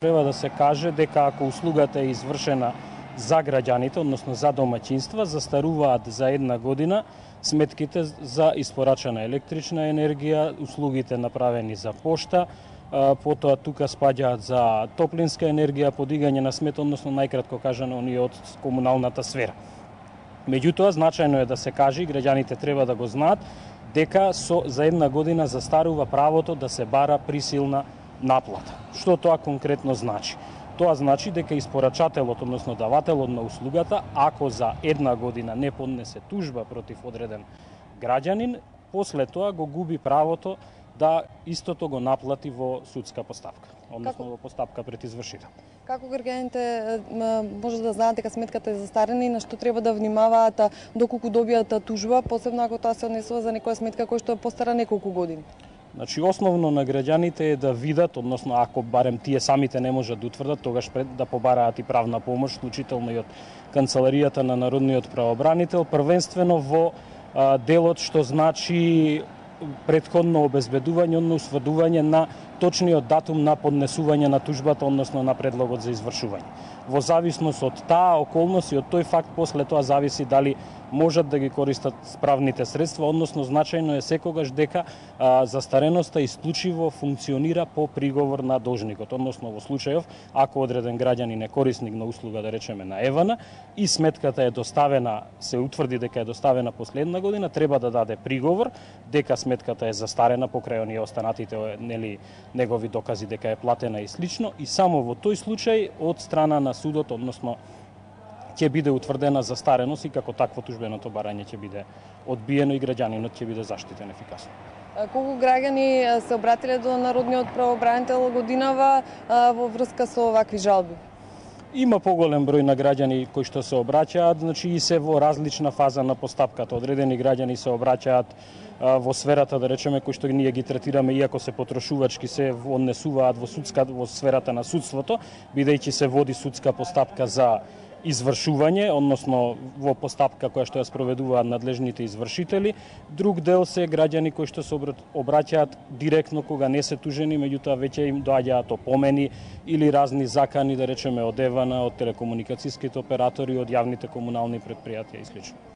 Треба да се каже дека ако услугата е извршена за граѓаните, односно за домаќинства, застаруваат за една година сметките за испорачана електрична енергија, услугите направени за пошта, потоа тука спаѓаат за топлинска енергија, подигање на смет, односно најкратко кажано оние од комуналната сфера. Меѓутоа, значајно е да се каже и граѓаните треба да го знаат дека за една година застарува правото да се бара присилна наплата. Што тоа конкретно значи? Тоа значи дека испорачателот, односно давателот на услугата, ако за една година не поднесе тужба против одреден граѓанин, после тоа го губи правото да истото го наплати во судска постапка, односно во постапка пред извршител. Како граѓаните може да знаат дека сметката е застарена и на што треба да внимаваат доколку добијат тужба, посебно ако тоа се однесува за некоја сметка која што е постара неколку години? Значи, основно на граѓаните е да видат, односно ако барем тие самите не можат да утврдат, тогаш пред да побараат и правна помош, вклучително и од Канцеларијата на Народниот правобранител, првенствено во делот што значи претходно обезбедување, односно усврдување на точниот датум на поднесување на тужбата, односно на предлогот за извршување. Во зависност од таа околност и од тој факт, после тоа зависи дали можат да ги користат правните средства, односно значајно е секогаш дека застареноста исклучиво функционира по приговор на должникот, односно во случајов ако одреден граѓанин е корисник на услуга, да речеме на Евана, и сметката е доставена, се утврди дека е доставена последна година, треба да даде приговор дека сметката е застарена покрај оние останатите негови докази дека е платена и слично, и само во тој случај од страна на судот, односно ќе биде утврдена застареност и како такво тужбеното барање ќе биде одбиено и граѓанинот ќе биде заштитен ефикасно. Колку граѓани се обратиле до Народниот правобранител годинава во врска со овакви жалби? Има поголем број на граѓани кои што се обраќаат, значи и се во различна фаза на постапката. Одредени граѓани се обраќаат во сферата, да речеме, кои што ние ги третираме, иако се потрошувачки, се однесуваат во сферата на судството, бидејќи се води судска постапка за извршување, односно во постапка која што ја спроведуваат надлежните извршители. Друг дел се граѓани кои што се обраќаат директно кога не се тужени, меѓутоа веќе им доаѓаат опомени или разни закани, да речеме, од Евана, од телекомуникацијските оператори, од јавните комунални претпријатија и слично.